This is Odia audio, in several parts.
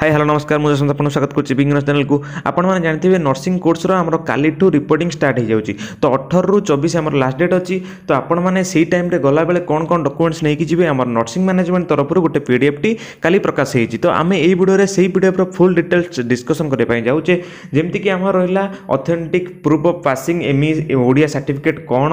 ହାଇ, ହ୍ୟାଲୋ, ନମସ୍କାର। ମୁଁ ଯଶବନ୍ତ, ଆପଣଙ୍କୁ ସ୍ୱାଗତ କରୁଛି ବିଜ୍ଞାନ ଚ୍ୟାନେଲକୁ। ଆପଣମାନେ ଜାଣିଥିବେ, ନର୍ସିଂ କୋର୍ସର ଆମର କାଲିଠୁ ରିପୋର୍ଟିଂ ଷ୍ଟାର୍ଟ ହେଇଯାଉଛି। ତ 18ରୁ 24 ଆମର ଲାଷ୍ଟ ଡେଟ୍ ଅଛି। ତ ଆପଣମାନେ ସେଇ ଟାଇମ୍ରେ ଗଲାବେଳେ କ'ଣ କ'ଣ ଡକୁମେଣ୍ଟସ୍ ନେଇକି ଯିବେ, ଆମର ନର୍ସିଂ ମ୍ୟାନେଜମେଣ୍ଟ ତରଫରୁ ଗୋଟେ ପିଡ଼ିଏଫ୍ଟି କାଲି ପ୍ରକାଶ ହେଇଛି। ତ ଆମେ ଏଇ ଭିଡ଼ିଓରେ ସେଇ ପିଡ଼ିଏଫ୍ର ଫୁଲ୍ ଡିଟେଲ୍ସ ଡିସ୍କସନ୍ କରିବା ପାଇଁ ଯାଉଛେ। ଯେମିତିକି ଆମର ରହିଲା authentic proof of passing ME Odia certificate କ'ଣ,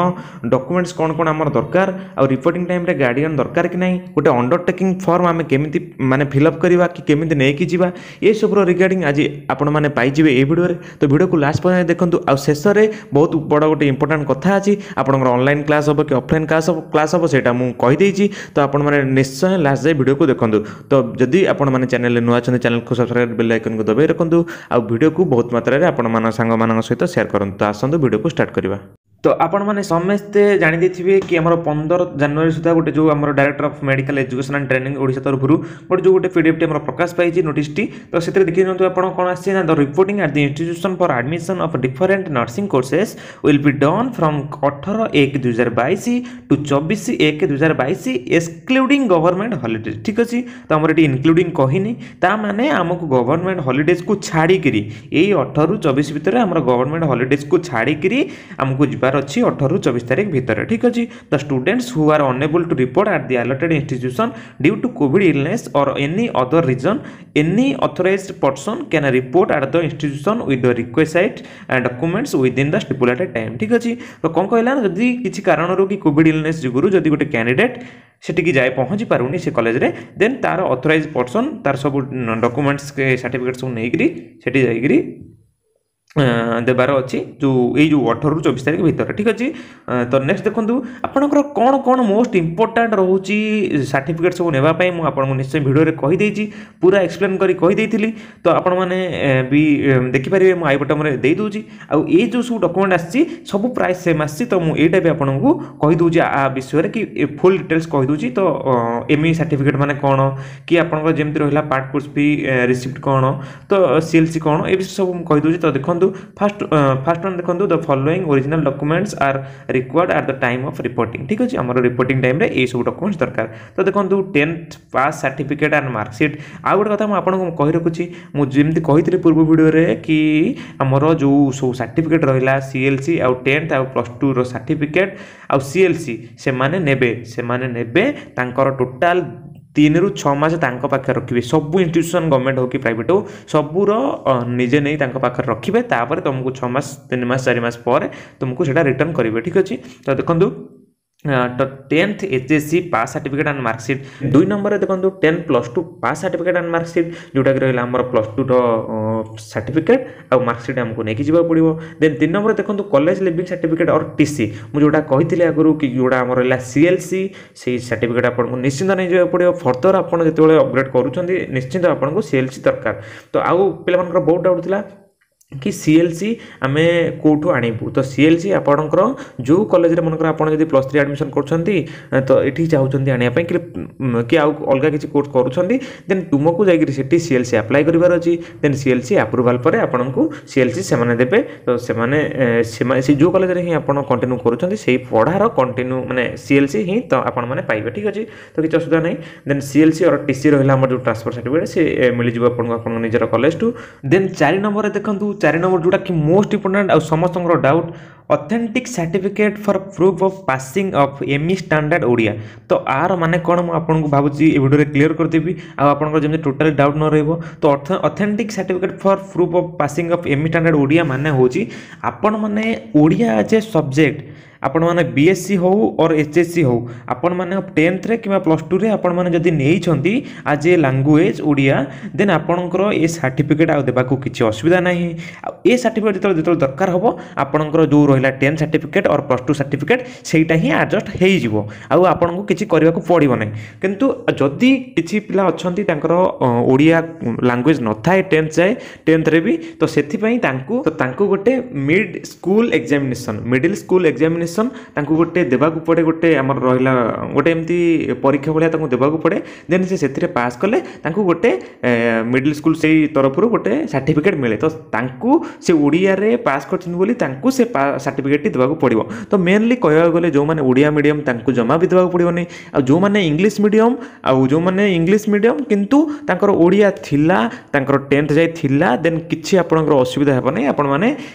ଡକୁମେଣ୍ଟସ୍ କ'ଣ କ'ଣ ଆମର ଦରକାର, ଆଉ ରିପୋର୍ଟିଂ ଟାଇମ୍ରେ ଗାର୍ଡ଼ିଆନ୍ ଦରକାର କି ନାହିଁ, ଗୋଟେ ଅଣ୍ଡରଟେକିଂ ଫର୍ମ ଆମେ କେମିତି ମାନେ ଫିଲ୍ଅପ୍ କରିବା କି କେମିତି ନେଇକି ଯିବା, ଏସବୁର ରିଗାର୍ଡ଼ିଂ ଆଜି ଆପଣମାନେ ପାଇଯିବେ ଏଇ ଭିଡ଼ିଓରେ। ତ ଭିଡ଼ିଓକୁ ଲାଷ୍ଟ ପର୍ଯ୍ୟନ୍ତ ଦେଖନ୍ତୁ। ଆଉ ଶେଷରେ ବହୁତ ବଡ଼ ଗୋଟେ ଇମ୍ପୋର୍ଟାଣ୍ଟ କଥା ଅଛି। ଆପଣଙ୍କର ଅନଲାଇନ୍ କ୍ଲାସ୍ ହେବ କି ଅଫଲାଇନ୍ କ୍ଲାସ୍ ହେବ, ସେଇଟା ମୁଁ କହିଦେଇଛି। ତ ଆପଣମାନେ ନିଶ୍ଚୟ ଲାଷ୍ଟ ଯାଏ ଭିଡ଼ିଓକୁ ଦେଖନ୍ତୁ। ତ ଯଦି ଆପଣମାନେ ଚ୍ୟାନେଲରେ ନୂଆ ଅଛନ୍ତି, ଚ୍ୟାନେଲକୁ ସବସ୍କ୍ରାଇବ୍, ବେଲ୍ ଆଇକନ୍କୁ ଦବାଇ ରଖନ୍ତୁ ଆଉ ଭିଡ଼ିଓକୁ ବହୁତ ମାତ୍ରାରେ ଆପଣମାନଙ୍କ ସାଙ୍ଗମାନଙ୍କ ସହିତ ସେୟାର କରନ୍ତୁ। ତ ଆସନ୍ତୁ, ଭିଡ଼ିଓକୁ ଷ୍ଟାର୍ଟ କରିବା। ତ ଆପଣମାନେ ସମସ୍ତେ ଜାଣିଦେଇଥିବେ କି ଆମର 15 ଜାନୁଆରୀ ସୁଦ୍ଧା ଗୋଟେ ଯେଉଁ ଆମର Director of Medical Education and Training Odisha ତରଫରୁ ଗୋଟେ ଯେଉଁ ଗୋଟେ ପିଡ଼ିଏଫ୍ଟି ଆମର ପ୍ରକାଶ ପାଇଛି ନୋଟିସ୍ଟି। ତ ସେଥିରେ ଦେଖି ନିଅନ୍ତୁ ଆପଣ କ'ଣ ଆସିଛି ନା, the reporting at the institution for admission of different nursing courses will be done from 18/1/2022 to 24/1/2022, excluding government holidays. ଠିକ୍ ଅଛି। ତ ଆମର ଏଠି ଇନକ୍ଲୁଡ଼ିଂ କହିନି, ତା ମାନେ ଆମକୁ ଗଭର୍ଣ୍ଣମେଣ୍ଟ ହଲିଡେଜ୍କୁ ଛାଡ଼ିକିରି, ଏଇ 18ରୁ 24 ଭିତରେ ଆମର ଗଭର୍ଣ୍ଣମେଣ୍ଟ ହଲିଡେଜ୍କୁ ଛାଡ଼ିକିରି ଆମକୁ ଯିବାର ଅଛି 18ରୁ 24 ତାରିଖ ଭିତରେ। ଠିକ୍ ଅଛି। The students who R ଅନଏବୁଲ୍ two report at the allotted institution due to Covid illness or any other reason, any authorised person can report at the institution with the ରିକ୍ୱେସାଇଟ୍ documents within the ଷ୍ଟିପୁଲେଟେଡ୍ time. ଠିକ୍ ଅଛି। ତ କ'ଣ କହିଲା ନା, ଯଦି କିଛି କାରଣରୁ କି କୋଭିଡ଼ ଇଲନେସ୍ ଯୋଗୁଁ ଯଦି ଗୋଟେ କ୍ୟାଣ୍ଡିଡେଟ୍ ସେଠିକି ଯାଇ ପହଞ୍ଚି ପାରୁନି ସେ କଲେଜରେ, ଦେନ୍ ତାର ଅଥରାଇଜ୍ ପର୍ସନ୍ ତାର ସବୁ ଡକୁମେଣ୍ଟସ୍, ସାର୍ଟିଫିକେଟ୍ ସବୁ ନେଇକରି ସେଠି ଯାଇକରି ଦେବାର ଅଛି ଯେଉଁ ଏଇ ଯେଉଁ 18ରୁ 24 ତାରିଖ ଭିତରେ। ଠିକ୍ ଅଛି। ତ ନେକ୍ସଟ ଦେଖନ୍ତୁ, ଆପଣଙ୍କର କ'ଣ କ'ଣ ମୋଷ୍ଟ ଇମ୍ପୋର୍ଟାଣ୍ଟ ରହୁଛି ସାର୍ଟିଫିକେଟ୍ ସବୁ ନେବା ପାଇଁ, ମୁଁ ଆପଣଙ୍କୁ ନିଶ୍ଚୟ ଭିଡ଼ିଓରେ କହିଦେଇଛି, ପୁରା ଏକ୍ସପ୍ଲେନ୍ କରି କହିଦେଇଥିଲି। ତ ଆପଣମାନେ ବି ଦେଖିପାରିବେ, ମୁଁ I ବଟନ୍ରେ ଦେଇଦେଉଛି। ଆଉ ଏଇ ଯେଉଁ ସବୁ ଡକୁମେଣ୍ଟ ଆସିଛି, ସବୁ ପ୍ରାୟ ସେମ୍ ଆସିଛି। ତ ମୁଁ ଏଇଟା ବି ଆପଣଙ୍କୁ କହିଦେଉଛି ଆ ବିଷୟରେ କି ଫୁଲ୍ ଡିଟେଲ୍ସ କହିଦେଉଛି। ତ ଏମ୍ଇ ସାର୍ଟିଫିକେଟ୍ ମାନେ କ'ଣ କି ଆପଣଙ୍କର ଯେମିତି ରହିଲା ପାର୍ଟ କୋର୍ସ ଫି ରିସିପ୍ଟ କ'ଣ, ତ ସିଏଲ୍ସି କ'ଣ, ଏ ବିଷୟରେ ସବୁ ମୁଁ କହିଦେଉଛି। ତ ଦେଖନ୍ତୁ, ଫାର୍ଷ୍ଟ ଫାର୍ଷ୍ଟ ୱାନ୍ ଦେଖନ୍ତୁ, the following original documents are required at the time of reporting. ଠିକ୍ ଅଛି। ଆମର ରିପୋର୍ଟିଂ ଟାଇମ୍ରେ ଏଇସବୁ ଡକୁମେଣ୍ଟସ୍ ଦରକାର। ତ ଦେଖନ୍ତୁ, 10th pass certificate and marksheet. ଆଉ ଗୋଟେ କଥା ମୁଁ ଆପଣଙ୍କୁ କହି ରଖୁଛି, ମୁଁ ଯେମିତି କହିଥିଲି ପୂର୍ବ ଭିଡ଼ିଓରେ କି ଆମର ଯେଉଁ ସବୁ ସାର୍ଟିଫିକେଟ୍ ରହିଲା, ସିଏଲ୍ସି ଆଉ 10th ଆଉ ପ୍ଲସ୍ ଟୁର ସାର୍ଟିଫିକେଟ୍ ଆଉ ସିଏଲ୍ସି ସେମାନେ ନେବେ, ତାଙ୍କର ଟୋଟାଲ୍ 3ରୁ 6 ମାସ ତାଙ୍କ ପାଖରେ ରଖିବେ। ସବୁ ଇନଷ୍ଟିଟ୍ୟୁସନ୍, ଗଭର୍ଣ୍ଣମେଣ୍ଟ ହଉ କି ପ୍ରାଇଭେଟ୍ ହଉ, ସବୁର ନିଜେ ନେଇ ତାଙ୍କ ପାଖରେ ରଖିବେ। ତାପରେ ତୁମକୁ 6 ମାସ, 3 ମାସ, 4 ମାସ ପରେ ତୁମକୁ ସେଇଟା ରିଟର୍ନ କରିବେ। ଠିକ୍ ଅଛି। ତ ଦେଖନ୍ତୁ, ତ 10th HSC pass certificate and marksheet। ଦୁଇ ନମ୍ବରରେ ଦେଖନ୍ତୁ, 10 plus 2 pass certificate and marksheet, ଯେଉଁଟାକି ରହିଲା ଆମର ପ୍ଲସ୍ ଟୁର ସାର୍ଟିଫିକେଟ୍ ଆଉ ମାର୍କସିଟ୍ ଆମକୁ ନେଇକି ଯିବାକୁ ପଡ଼ିବ। ଦେନ୍ ତିନି ନମ୍ବରରେ ଦେଖନ୍ତୁ, college leaving certificate or TC। ମୁଁ ଯେଉଁଟା କହିଥିଲି ଆଗରୁ କି ଯେଉଁଟା ଆମର ରହିଲା ସିଏଲ୍ସି, ସେଇ ସାର୍ଟିଫିକେଟ୍ ଆପଣଙ୍କୁ ନିଶ୍ଚିନ୍ତ ନେଇଯିବାକୁ ପଡ଼ିବ। ଫର୍ଦର ଆପଣ ଯେତେବେଳେ ଅପଗ୍ରେଡ଼ କରୁଛନ୍ତି, ନିଶ୍ଚିନ୍ତ ଆପଣଙ୍କୁ ସିଏଲ୍ସି ଦରକାର। ତ ଆଉ ପିଲାମାନଙ୍କର ବହୁତ ଡାଉଟ୍ ଥିଲା କି ସିଏଲ୍ସି ଆମେ କେଉଁଠୁ ଆଣିବୁ? ତ ସିଏଲ୍ସି ଆପଣଙ୍କର ଯେଉଁ କଲେଜରେ, ମନେକର ଆପଣ ଯଦି ପ୍ଲସ୍ ଥ୍ରୀ ଆଡ଼ମିସନ୍ କରୁଛନ୍ତି, ତ ଏଠି ଚାହୁଁଛନ୍ତି ଆଣିବା ପାଇଁ କି ଆଉ ଅଲଗା କିଛି କୋର୍ସ କରୁଛନ୍ତି, ଦେନ୍ ତୁମକୁ ଯାଇକରି ସେଠି ସିଏଲ୍ସି ଆପ୍ଲାଏ କରିବାର ଅଛି। ଦେନ୍ ସିଏଲ୍ସି ଆପ୍ରୁଭାଲ୍ ପରେ ଆପଣଙ୍କୁ ସିଏଲ୍ସି ସେମାନେ ଦେବେ। ତ ସେମାନେ ସେମାନେ ସେ ଯେଉଁ କଲେଜରେ ହିଁ ଆପଣ କଣ୍ଟିନ୍ୟୁ କରୁଛନ୍ତି, ସେଇ ପଢ଼ାର କଣ୍ଟିନ୍ୟୁ ମାନେ ସିଏଲ୍ସି ହିଁ ତ ଆପଣମାନେ ପାଇବେ। ଠିକ୍ ଅଛି। ତ କିଛି ଅସୁବିଧା ନାହିଁ। ଦେନ୍ ସିଏଲ୍ସି ଅର୍ ଟିସି ରହିଲା ଆମର ଯେଉଁ ଟ୍ରାନ୍ସଫର୍ ସାର୍ଟିଫିକେଟ୍, ସେ ମିଳିଯିବ ଆପଣଙ୍କୁ ଆପଣଙ୍କ ନିଜର କଲେଜଠୁ। ଦେନ୍ ଚାରି ନମ୍ବରରେ ଦେଖନ୍ତୁ, ଚାରି ନମ୍ବର ଯେଉଁଟାକି ମୋଷ୍ଟ ଇମ୍ପୋର୍ଟାଣ୍ଟ ଆଉ ସମସ୍ତଙ୍କର doubt, authentic certificate for proof of passing of ME standard Odia। ତ ଆର ମାନେ କ'ଣ, ମୁଁ ଆପଣଙ୍କୁ ଭାବୁଛି ଏ ଭିଡ଼ିଓରେ କ୍ଲିୟର କରିଦେବି ଆଉ ଆପଣଙ୍କର ଯେମିତି ଟୋଟାଲି ଡାଉଟ୍ ନ ରହିବ। ତ authentic certificate for proof of passing of ME standard Odia ମାନେ ହେଉଛି ଆପଣମାନେ ଓଡ଼ିଆ ଆଜ୍ ଏ ସବଜେକ୍ଟ, ଆପଣମାନେ ବିଏସ୍ସି ହେଉ ଅର୍ ଏଚ୍ଏସ୍ସି ହେଉ, ଆପଣମାନେ 10thରେ କିମ୍ବା ପ୍ଲସ୍ ଟୁରେ ଆପଣମାନେ ଯଦି ନେଇଛନ୍ତି ଆଜ୍ ଏ ଲାଙ୍ଗୁଏଜ୍ ଓଡ଼ିଆ, ଦେନ୍ ଆପଣଙ୍କର ଏ ସାର୍ଟିଫିକେଟ୍ ଆଉ ଦେବାକୁ କିଛି ଅସୁବିଧା ନାହିଁ। ଆଉ ଏ ସାର୍ଟିଫିକେଟ୍ ଯେତେବେଳେ ଯେତେବେଳେ ଦରକାର ହେବ, ଆପଣଙ୍କର ଯେଉଁ ରହିଲା 10th certificate or +2 certificate, ସେଇଟା ହିଁ ଆଡ଼ଜଷ୍ଟ ହେଇଯିବ ଆଉ ଆପଣଙ୍କୁ କିଛି କରିବାକୁ ପଡ଼ିବ ନାହିଁ। କିନ୍ତୁ ଯଦି କିଛି ପିଲା ଅଛନ୍ତି, ତାଙ୍କର ଓଡ଼ିଆ ଲାଙ୍ଗୁଏଜ୍ ନଥାଏ 10th ଯାଏ, 10thରେ ବି, ତ ସେଥିପାଇଁ ତାଙ୍କୁ ତ ତାଙ୍କୁ ଗୋଟେ mid school examination, middle school examination examination ତାଙ୍କୁ ଗୋଟେ ଦେବାକୁ ପଡ଼େ, ଗୋଟେ ଆମର ରହିଲା ଗୋଟେ ଏମିତି ପରୀକ୍ଷା ଭଳିଆ ତାଙ୍କୁ ଦେବାକୁ ପଡ଼େ। ଦେନ୍ ସେ ସେଥିରେ ପାସ୍ କଲେ ତାଙ୍କୁ ଗୋଟେ ମିଡ଼ିଲ୍ ସ୍କୁଲ୍ ସେଇ ତରଫରୁ ଗୋଟେ ସାର୍ଟିଫିକେଟ୍ ମିଳେ। ତ ତାଙ୍କୁ ସେ ଓଡ଼ିଆରେ ପାସ୍ କରିଛନ୍ତି ବୋଲି ତାଙ୍କୁ ସେ ସାର୍ଟିଫିକେଟ୍ଟି ଦେବାକୁ ପଡ଼ିବ। ତ ମେନଲି କହିବାକୁ ଗଲେ ଯେଉଁମାନେ ଓଡ଼ିଆ ମିଡ଼ିୟମ୍ ତାଙ୍କୁ ଜମା ବି ଦେବାକୁ ପଡ଼ିବନି, ଆଉ ଯେଉଁମାନେ ଇଂଲିଶ ମିଡ଼ିୟମ୍, ଆଉ ଯେଉଁମାନେ ଇଂଲିଶ ମିଡ଼ିୟମ୍ କିନ୍ତୁ ତାଙ୍କର ଓଡ଼ିଆ ଥିଲା, ତାଙ୍କର 10th ଯାଇ ଥିଲା, ଦେନ୍ କିଛି ଆପଣଙ୍କର ଅସୁବିଧା ହେବ ନାହିଁ। ଆପଣମାନେ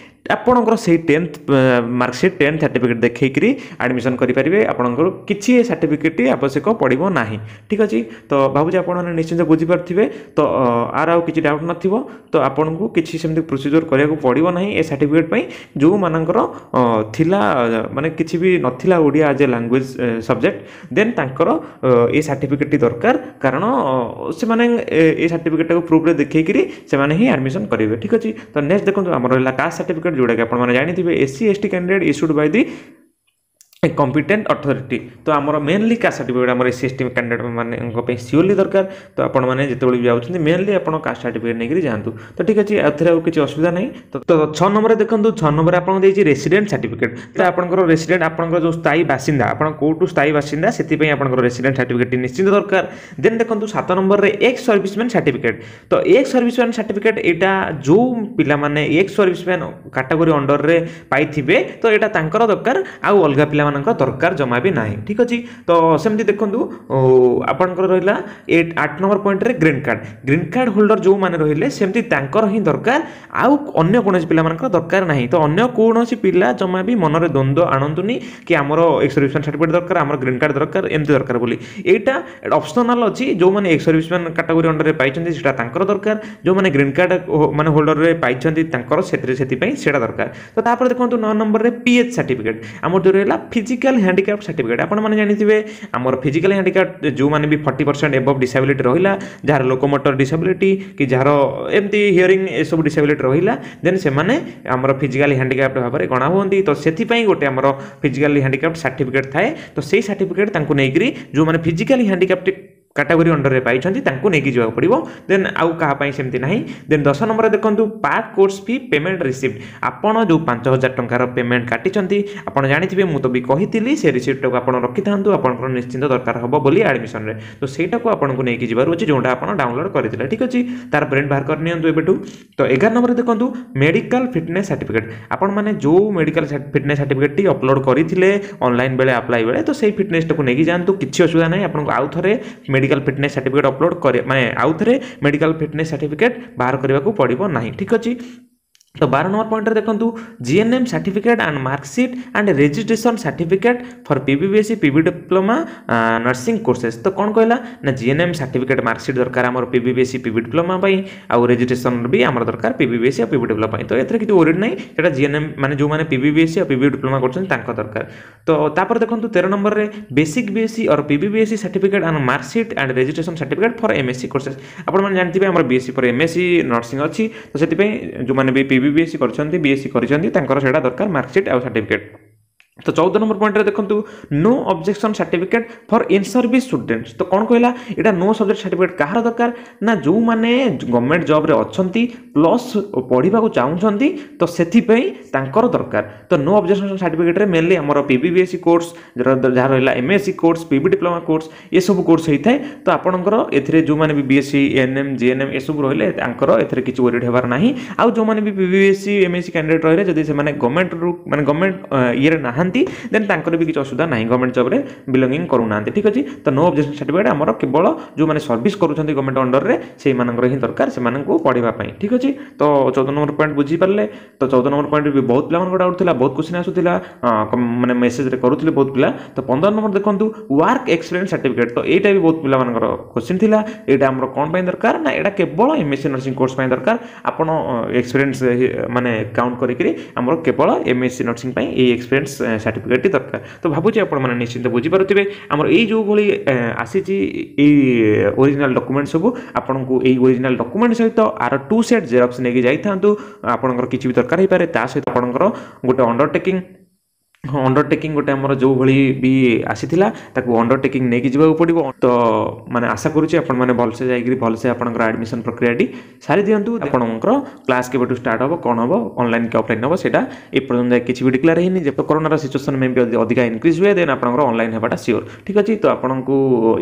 ଆପଣଙ୍କର ସେଇ 10th marksheet, 10th certificate ଦେଖେଇକିରି admission କରିପାରିବେ। ଆପଣଙ୍କର କିଛି ଏ ସାର୍ଟିଫିକେଟ୍ଟି ଆବଶ୍ୟକ ପଡ଼ିବ ନାହିଁ। ଠିକ୍ ଅଛି? ତ ଭାବୁଛି ଆପଣମାନେ ନିଶ୍ଚିନ୍ତ ବୁଝିପାରୁଥିବେ। ତ ଆର ଆଉ କିଛି ଡାଉଟ୍ ନଥିବ। ତ ଆପଣଙ୍କୁ କିଛି ସେମିତି ପ୍ରୋସିଜିଓର କରିବାକୁ ପଡ଼ିବ ନାହିଁ ଏ ସାର୍ଟିଫିକେଟ୍ ପାଇଁ। ଯେଉଁମାନଙ୍କର ଥିଲା, ମାନେ କିଛି ବି ନଥିଲା ଓଡ଼ିଆ ଆଜ୍ ଏ ଲାଙ୍ଗୁଏଜ୍ ସବଜେକ୍ଟ, ଦେନ୍ ତାଙ୍କର ଏ ସାର୍ଟିଫିକେଟ୍ଟି ଦରକାର, କାରଣ ସେମାନେ ଏ ସାର୍ଟିଫିକେଟ୍ଟାକୁ ପ୍ରୁଫ୍ରେ ଦେଖେଇକିରି ସେମାନେ ହିଁ ଆଡ଼ମିସନ୍ କରିବେ। ଠିକ୍ ଅଛି? ତ ନେକ୍ସଟ ଦେଖନ୍ତୁ, ଆମର ରହିଲା କାଷ୍ଟ ସାର୍ଟିଫିକେଟ୍, ଯେଉଁଟାକି ଆପଣମାନେ ଜାଣିଥିବେ, SC ST candidate issued by the competent authority। ତ ଆମର ମେନଲି କାଷ୍ଟ ସାର୍ଟିଫିକେଟ୍ ଆମର S C S T candidate ମାନଙ୍କ ପାଇଁ ସିଓରଲି ଦରକାର। ତ ଆପଣମାନେ ଯେତେବେଳେ ବି ଯାଉଛନ୍ତି, ମେନଲି ଆପଣ କାଷ୍ଟ ସାର୍ଟିଫିକେଟ୍ ନେଇକରି ଯାଆନ୍ତୁ। ତ ଠିକ୍ ଅଛି, ଏଥିରେ ଆଉ କିଛି ଅସୁବିଧା ନାହିଁ। ତ 6 ନମ୍ବରରେ ଦେଖନ୍ତୁ, 6 ନମ୍ବରରେ ଆପଣଙ୍କୁ ଦେଇଛି ରେସିଡେଣ୍ଟ ସାର୍ଟିଫିକେଟ୍। ତ ଆପଣଙ୍କର ରେସିଡେଣ୍ଟ, ଆପଣଙ୍କର ଯେଉଁ ସ୍ଥାୟୀ ବାସିନ୍ଦା, ଆପଣ କେଉଁଠୁ ସ୍ଥାୟୀ ବାସିନ୍ଦା, ସେଥିପାଇଁ ଆପଣଙ୍କର ରେସିଡେଣ୍ଟ ସାର୍ଟିଫିକେଟ୍ଟି ନିଶ୍ଚିନ୍ତ ଦରକାର। ଦେନ୍ ଦେଖନ୍ତୁ 7 ନମ୍ବରରେ ଏକ୍ସ ସର୍ଭିସମ୍ୟାନ୍ ସାର୍ଟିଫିକେଟ୍। ତ ଏକ୍ସ ସର୍ଭିସମ୍ୟାନ୍ ସାର୍ଟିଫିକେଟ୍ ଏଇଟା ଯେଉଁ ପିଲାମାନେ ଏକ୍ସ ସର୍ଭିସମ୍ୟାନ୍ କାଟାଗୋରୀ ଅଣ୍ଡରରେ ପାଇଥିବେ, ତ ଏଇଟା ତାଙ୍କର ଦରକାର, ଆଉ ଅଲଗା ପିଲାମାନଙ୍କର ଦରକାର ଜମା ବି ନାହିଁ। ଠିକ୍ ଅଛି? ତ ସେମିତି ଦେଖନ୍ତୁ, ଆପଣଙ୍କର ରହିଲା 8 ନମ୍ବର ପଏଣ୍ଟରେ green card. Green card holder ଯେଉଁମାନେ ରହିଲେ, ସେମିତି ତାଙ୍କର ହିଁ ଦରକାର, ଆଉ ଅନ୍ୟ କୌଣସି ପିଲାମାନଙ୍କର ଦରକାର ନାହିଁ। ତ ଅନ୍ୟ କୌଣସି ପିଲା ଜମା ବି ମନରେ ଦ୍ୱନ୍ଦ୍ୱ ଆଣନ୍ତୁନି କି ଆମର ଏକ୍ସ ସର୍ଭିସମ୍ୟାନ୍ ସାର୍ଟିଫିକେଟ୍ ଦରକାର, ଆମର ଗ୍ରୀନ୍ କାର୍ଡ଼ ଦରକାର, ଏମିତି ଦରକାର ବୋଲି। ଏଇଟା ଅପସନାଲ୍ ଅଛି। ଯେଉଁମାନେ ଏକ୍ସ ସର୍ଭିସମ୍ୟାନ୍ କାଟାଗୋରୀ ଅଣ୍ଡରରେ ପାଇଛନ୍ତି, ସେଇଟା ତାଙ୍କର ଦରକାର। ଯେଉଁମାନେ ଗ୍ରୀନ୍ କାର୍ଡ଼ ମାନେ ହୋଲ୍ଡରରେ ପାଇଛନ୍ତି, ତାଙ୍କର ସେଥିରେ ସେଥିପାଇଁ ସେଇଟା ଦରକାର। ତ ତାପରେ ଦେଖନ୍ତୁ 9 ନମ୍ବରରେ ପି ଏଚ୍ ସାର୍ଟିଫିକେଟ୍, ଆମର ଯେଉଁ ରହିଲା ଫିଜିକାଲ୍ ହ୍ୟାଣ୍ଡିକ୍ୟାପ୍ଟ ସାର୍ଟିଫିକେଟ୍। ଆପଣମାନେ ଜାଣିଥିବେ, ଆମର ଫିଜିକାଲ୍ ହ୍ୟାଣ୍ଡିକ୍ୟାପ୍ଟ ଯେଉଁମାନେ ବି 40% ଏବଭ୍ ଡିସାବିଲିଟି ରହିଲା, ଯାହାର ଲୋକୋମୋଟର ଡିସାବିଲିଟି କି ଯାହାର ଏମିତି ହିୟରିଂ ଏସବୁ ଡିସାବିଲିଟି ରହିଲା, ଦେନ୍ ସେମାନେ ଆମର ଫିଜିକାଲି ହ୍ୟାଣ୍ଡିକ୍ୟାପ୍ଟ ଭାବରେ ଗଣା ହୁଅନ୍ତି। ତ ସେଥିପାଇଁ ଗୋଟେ ଆମର ଫିଜିକାଲି ହ୍ୟାଣ୍ଡିକ୍ୟାପ୍ଟ ସାର୍ଟିଫିକେଟ୍ ଥାଏ। ତ ସେଇ ସାର୍ଟିଫିକେଟ୍ ତାଙ୍କୁ ନେଇକରି, ଯେଉଁମାନେ ଫିଜିକାଲି ହ୍ୟାଣ୍ଡିକ୍ୟାପ୍ଟ କାଟାଗୋରୀ ଅଣ୍ଡରରେ ପାଇଛନ୍ତି, ତାଙ୍କୁ ନେଇକି ଯିବାକୁ ପଡ଼ିବ। ଦେନ୍ ଆଉ କାହା ପାଇଁ ସେମିତି ନାହିଁ। ଦେନ୍ 10 ନମ୍ବରରେ ଦେଖନ୍ତୁ, part course fee payment receipt। ଆପଣ ଯେଉଁ 5000 ଟଙ୍କାର ପେମେଣ୍ଟ କାଟିଛନ୍ତି, ଆପଣ ଜାଣିଥିବେ, ମୁଁ ତ ବି କହିଥିଲି, ସେ ରିସିପ୍ଟଟାକୁ ଆପଣ ରଖିଥାନ୍ତୁ, ଆପଣଙ୍କର ନିଶ୍ଚିନ୍ତ ଦରକାର ହେବ ବୋଲି ଆଡ଼ମିସନରେ। ତ ସେଇଟାକୁ ଆପଣଙ୍କୁ ନେଇକି ଯିବାର ଅଛି, ଯେଉଁଟା ଆପଣ ଡାଉନଲୋଡ଼ କରିଥିଲେ। ଠିକ୍ ଅଛି? ତାର ପ୍ରିଣ୍ଟ ବାହାର କରି ନିଅନ୍ତୁ ଏବେଠୁ। ତ 11 ନମ୍ବରରେ ଦେଖନ୍ତୁ, ମେଡ଼ିକାଲ ଫିଟନେସ୍ ସାର୍ଟିଫିକେଟ୍। ଆପଣମାନେ ଯେଉଁ ମେଡ଼ିକାଲ ଫିଟନେସ୍ ସାର୍ଟିଫିକେଟ୍ଟି ଅପଲୋଡ଼ କରିଥିଲେ ଅନଲାଇନ୍ ବେଳେ, ଆପ୍ଲାଏ ବେଳେ, ତ ସେଇ ଫିଟନେସ୍ଟାକୁ ନେଇକି ଯାଆନ୍ତୁ। କିଛି ଅସୁବିଧା ନାହିଁ। ଆପଣଙ୍କୁ ଆଉ ଥରେ ମେଡ଼ିକାଲ ଫିଟନେସ୍ ସାର୍ଟିଫିକେଟ୍ ଅପଲୋଡ଼ କରି, ମାନେ ଆଉ ଥରେ ମେଡ଼ିକାଲ ଫିଟନେସ୍ ସାର୍ଟିଫିକେଟ୍ ବାହାର କରିବାକୁ ପଡ଼ିବ ନାହିଁ। ଠିକ୍ ଅଛି? ତ 12 ନମ୍ବର ପଏଣ୍ଟରେ ଦେଖନ୍ତୁ, GNM certificate and marksheet and registration certificate for PBBSc, PB diploma nursing courses। ତ କ'ଣ କହିଲା ନା ଜିଏନ୍ଏମ୍ ସାର୍ଟିଫିକେଟ୍ ମାର୍କସିଟ୍ ଦରକାର ଆମର ପିବିବିଏସ୍ସି, ପିବି ଡିପ୍ଲୋମା ପାଇଁ, ଆଉ ରେଜିଷ୍ଟ୍ରେସନ୍ ବି ଆମର ଦରକାର ପିବିବିଏସ୍ସି ଆଉ ପିବି ଡିପ୍ଲୋମା ପାଇଁ। ତ ଏଥିରେ କିଛି ୱରିଡ୍ ନାହିଁ। ସେଇଟା ଜିଏନ୍ଏମ୍ ମାନେ ଯେଉଁମାନେ ପିବିବିଏସ୍ସି ଆଉ ପିବି ଡିପ୍ଲୋମା କରୁଛନ୍ତି, ତାଙ୍କ ଦରକାର। ତ ତାପରେ ଦେଖନ୍ତୁ 13 ନମ୍ବରରେ, basic BSc or PBBSc certificate and marksheet and registration certificate for MSc courses। ଆପଣମାନେ ଜାଣିଥିବେ, ଆମର ବିଏସ୍ସି ପରେ ଏମ୍ଏସ୍ସି ନର୍ସିଂ ଅଛି। ତ ସେଥିପାଇଁ ଯେଉଁମାନେ ବି ପିବିବିଏସ୍ସି କରିଛନ୍ତି, ବିଏସ୍ସି କରିଛନ୍ତି, ତାଙ୍କର ସେଇଟା ଦରକାର ମାର୍କସିଟ୍ ଆଉ ସାର୍ଟିଫିକେଟ୍। ତ 14 ନମ୍ବର ପଏଣ୍ଟରେ ଦେଖନ୍ତୁ, no objection certificate for in service students। ତ କ'ଣ କହିଲା ଏଇଟା? ନୋ ସବଜେକ୍ଟ ସାର୍ଟିଫିକେଟ୍ କାହାର ଦରକାର ନା ଯେଉଁମାନେ ଗଭର୍ଣ୍ଣମେଣ୍ଟ ଜବ୍ରେ ଅଛନ୍ତି ପ୍ଲସ୍ ପଢ଼ିବାକୁ ଚାହୁଁଛନ୍ତି, ତ ସେଥିପାଇଁ ତାଙ୍କର ଦରକାର। ତ ନୋ ଅବଜେକ୍ସନ୍ ସାର୍ଟିଫିକେଟ୍ରେ ମେନଲି ଆମର ପିବିବିଏସ୍ସି କୋର୍ସ, ଯାହା ରହିଲା MSc course, P B diploma course, ଏସବୁ କୋର୍ସ ହେଇଥାଏ। ତ ଆପଣଙ୍କର ଏଥିରେ ଯେଉଁମାନେ ବି ବିଏସ୍ସି, ଏଏନ୍ଏମ୍, ଜିଏନ୍ଏମ୍ ଏସବୁ ରହିଲେ, ତାଙ୍କର ଏଥିରେ କିଛି ୱରିଡ୍ ହେବାର ନାହିଁ। ଆଉ ଯେଉଁମାନେ ବି ପିବିବିଏସ୍ସି, ଏମ୍ଏସ୍ସି କ୍ୟାଣ୍ଡିଡେଟ୍ ରହିଲେ, ଯଦି ସେମାନେ ଗଭର୍ଣ୍ଣମେଣ୍ଟରୁ, ମାନେ ଗଭର୍ଣ୍ଣମେଣ୍ଟ ଇଏରେ ନାହାନ୍ତି, ଦେନ୍ ତାଙ୍କର ବି କିଛି ଅସୁବିଧା ନାହିଁ, ଗଭର୍ଣ୍ଣମେଣ୍ଟ ଜବ୍ରେ ବିଲଙ୍ଗିଂ କରୁନାହାନ୍ତି। ଠିକ୍ ଅଛି? ତ ନୋ ଅବଜେକ୍ସନ୍ ସାର୍ଟିଫିକେଟ୍ ଆମର କେବଳ ଯେଉଁମାନେ ସର୍ଭିସ୍ କରୁଛନ୍ତି ଗଭର୍ଣ୍ଣମେଣ୍ଟ ଅଣ୍ଡରରେ, ସେଇମାନଙ୍କର ହିଁ ଦରକାର ସେମାନଙ୍କୁ ପଢ଼ିବା ପାଇଁ। ଠିକ୍ ଅଛି? ତ 14 ନମ୍ବର ପଏଣ୍ଟ ବୁଝିପାରିଲେ? ତ 14 ନମ୍ବର ପଏଣ୍ଟ ବି ବହୁତ ପିଲାମାନଙ୍କ ଡାଉଟ୍ ଥିଲା, ବହୁତ କ୍ୱେଶ୍ଚିନ୍ ଆସୁଥିଲା, ମାନେ ମେସେଜରେ କରୁଥିଲେ ବହୁତ ପିଲା। ତ 15 ନମ୍ବର ଦେଖନ୍ତୁ, ୱାର୍କ ଏକ୍ସପିରିଏନ୍ସ ସାର୍ଟିଫିକେଟ୍। ତ ଏଇଟା ବି ବହୁତ ପିଲାମାନଙ୍କର କ୍ୱେଶ୍ଚିନ୍ ଥିଲା। ଏଇଟା ଆମର କ'ଣ ପାଇଁ ଦରକାର ନା ଏଇଟା କେବଳ ଏମ୍ଏସ୍ସି ନର୍ସିଂ କୋର୍ସ ପାଇଁ ଦରକାର। ଆପଣ ଏକ୍ସପିରିଏନ୍ସ ମାନେ କାଉଣ୍ଟ କରିକିରି ଆମର କେବଳ ଏମ୍ଏସ୍ସି ନର୍ସିଂ ପାଇଁ ଏଇ ଏକ୍ସପିରିଏନ୍ସ ସାର୍ଟିଫିକେଟ୍ଟି ଦରକାର। ତ ଭାବୁଛି ଆପଣମାନେ ନିଶ୍ଚିନ୍ତ ବୁଝିପାରୁଥିବେ। ଆମର ଏଇ ଯେଉଁଭଳି ଆସିଛି ଏଇ ଓରିଜିନାଲ୍ ଡକୁମେଣ୍ଟ ସବୁ, ଆପଣଙ୍କୁ ଏଇ ଓରିଜିନାଲ୍ ଡକୁମେଣ୍ଟ ସହିତ ଆର ଟୁ ସେଟ୍ ଜେରକ୍ସ ନେଇକି ଯାଇଥାନ୍ତୁ, ଆପଣଙ୍କର କିଛି ବି ଦରକାର ହେଇପାରେ। ତା ସହିତ ଆପଣଙ୍କର ଗୋଟେ ଅଣ୍ଡରଟେକିଂ ଅଣ୍ଡରଟେକିଂ ଗୋଟେ ଆମର ଯେଉଁଭଳି ବି ଆସିଥିଲା, ତାକୁ ଅଣ୍ଡରଟେକିଂ ନେଇକି ଯିବାକୁ ପଡ଼ିବ। ତ ମାନେ ଆଶା କରୁଛି ଆପଣମାନେ ଭଲସେ ଯାଇକରି ଭଲସେ ଆପଣଙ୍କର ଆଡ଼ମିସନ୍ ପ୍ରକ୍ରିୟାଟି ସାରି ଦିଅନ୍ତୁ। ଆପଣଙ୍କର କ୍ଲାସ୍ କେବେଠୁ ଷ୍ଟାର୍ଟ ହେବ, କ'ଣ ହେବ, ଅନଲାଇନ୍ କି ଅଫଲାଇନ୍ ହେବ, ସେଇଟା ଏପର୍ଯ୍ୟନ୍ତ କିଛି ବି ଡିକ୍ଲେୟାର ହେଇନି। ଯେ କରୋନାର ସିଚୁଏସନ୍ ମେ ବି ଯଦି ଅଧିକା ଇନକ୍ରିଜ୍ ହୁଏ, ଦେନ୍ ଆପଣଙ୍କର ଅନଲାଇନ୍ ହେବାଟା ସିଓର। ଠିକ୍ ଅଛି, ତ ଆପଣଙ୍କୁ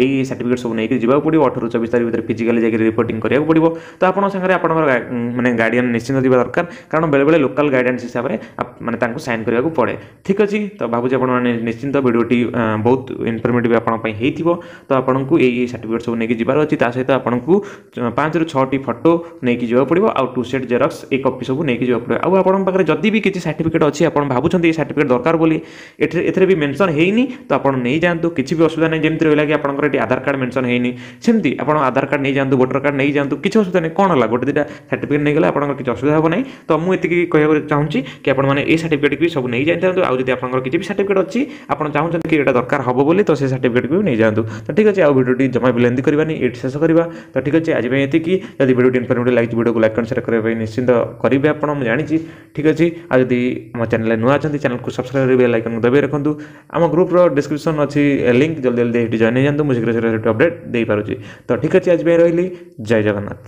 ଏଇ ସାର୍ଟିଫିକେଟ୍ ସବୁ ନେଇକି ଯିବାକୁ ପଡ଼ିବ। 18ରୁ 24 ତାରିଖ ଭିତରେ ଫିଜିକାଲି ଯାଇକି ରିପୋର୍ଟିଂ କରିବାକୁ ପଡ଼ିବ। ତ ଆପଣଙ୍କ ସାଙ୍ଗରେ ଆପଣଙ୍କର ମାନେ ଗାର୍ଡ଼ିଆନ୍ ନିଶ୍ଚିନ୍ତ ଯିବା ଦରକାର, କାରଣ ବେଳେବେଳେ ଲୋକାଲ୍ ଗାଇଡ଼ାନ୍ସ ହିସାବରେ ମାନେ ତାଙ୍କୁ ସାଇନ୍ କରିବାକୁ ପଡ଼େ। ଠିକ୍ ଅଛି, ତ ଭାବୁଛି ଆପଣମାନେ ନିଶ୍ଚିନ୍ତ ଭିଡ଼ିଓଟି ବହୁତ ଇନଫର୍ମେଟିଭ୍ ଆପଣଙ୍କ ପାଇଁ ହେଇଥିବ। ତ ଆପଣଙ୍କୁ ଏଇ ସାର୍ଟିଫିକେଟ୍ ସବୁ ନେଇକି ଯିବାର ଅଛି। ତା ସହିତ ଆପଣଙ୍କୁ 5ରୁ 6ଟି ଫଟୋ ନେଇକି ଯିବାକୁ ପଡ଼ିବ, ଆଉ 2 ସେଟ୍ ଜେରକ୍ସ ଏ କପି ସବୁ ନେଇକି ଯିବାକୁ ପଡ଼ିବ। ଆଉ ଆପଣଙ୍କ ପାଖରେ ଯଦି ବି କିଛି ସାର୍ଟିଫିକେଟ୍ ଅଛି, ଆପଣ ଭାବୁଛନ୍ତି ଏଇ ସାର୍ଟିଫିକେଟ୍ ଦରକାର ବୋଲି, ଏଥିରେ ଏଥିରେ ବି ମେନସନ୍ ହେଇନି, ତ ଆପଣ ନେଇଯାଆନ୍ତୁ, କିଛି ବି ଅସୁବିଧା ନାହିଁ। ଯେମିତି ରହିଲା କି ଆପଣଙ୍କର ଏଠି ଆଧାର କାର୍ଡ଼ ମେନସନ୍ ହେଇନି, ସେମିତି ଆପଣ ଆଧାର କାର୍ଡ଼ ନେଇଯାଆନ୍ତୁ, ଭୋଟର କାର୍ଡ଼ ନେଇଯାଆନ୍ତୁ, କିଛି ଅସୁବିଧା ନାହିଁ। କ'ଣ ହେଲା, ଗୋଟେ ଦୁଇଟା ସାର୍ଟିଫିକେଟ୍ ନେଇଗଲେ ଆପଣଙ୍କର କିଛି ଅସୁବିଧା ହେବ ନାହିଁ। ତ ମୁଁ ଏତିକି କହିବାକୁ ଚାହୁଁଛି କି ଆପଣମାନେ ଏଇ ସାର୍ଟିଫିକେଟ୍ ବି ସବୁ ନେଇଯାଇଥାନ୍ତୁ। ଆଉ ଯଦି ଆପଣଙ୍କର କିଛି ବି ସାର୍ଟିଫିକେଟ୍ ଅଛି, ଆପଣ ଚାହୁଁଛନ୍ତି କି ଏଇଟା ଦରକାର ହେବ ବୋଲି, ତ ସେ ସାର୍ଟିଫିକେଟ୍କୁ ବି ନେଇଯାଆନ୍ତୁ। ତ ଠିକ୍ ଅଛି, ଆଉ ଭିଡ଼ିଓଟି ଜମା ବି ଲେନ୍ଦି କରିବାନି, ଏଇଠି ଶେଷ କରିବା। ତ ଠିକ୍ ଅଛି, ଆଜି ପାଇଁ ଏତିକି। ଯଦି ଭିଡ଼ିଓଟି ଇନଫର୍ମେଟିଭ୍ ଲାଗିଛି, ଭିଡ଼ିଓକୁ ଲାଇକ୍ ଆଣ୍ଡ ସେୟାର କରିବା ପାଇଁ ନିଶ୍ଚିନ୍ତ କରିବେ ଆପଣ, ମୁଁ ଜାଣିଛି। ଠିକ୍ ଅଛି, ଆଉ ଯଦି ଆମ ଚ୍ୟାନେଲରେ ନୂଆ ଅଛନ୍ତି, ଚ୍ୟାନେଲକୁ ସବସ୍କ୍ରାଇବ୍ କରି ବେଲ୍ ଆଇକନ୍କୁ ଦବାଇ ରଖନ୍ତୁ। ଆମ ଗ୍ରୁପ୍ର ଡିସ୍କ୍ରିପ୍ସନ୍ ଅଛି ଲିଙ୍କ୍, ଜଲ୍ଦି ଜଲ୍ଦି ଏଠି ଜଏନ୍ ହେଇଯାନ୍ତୁ। ମୁଁ ଶୀଘ୍ର ଶୀଘ୍ର ସେଠି ଅପଡ଼େଟ୍ ଦେଇପାରୁଛି। ତ ଠିକ୍ ଅଛି, ଆଜି ପାଇଁ ରହିଲି, ଜୟ ଜଗନ୍ନାଥ।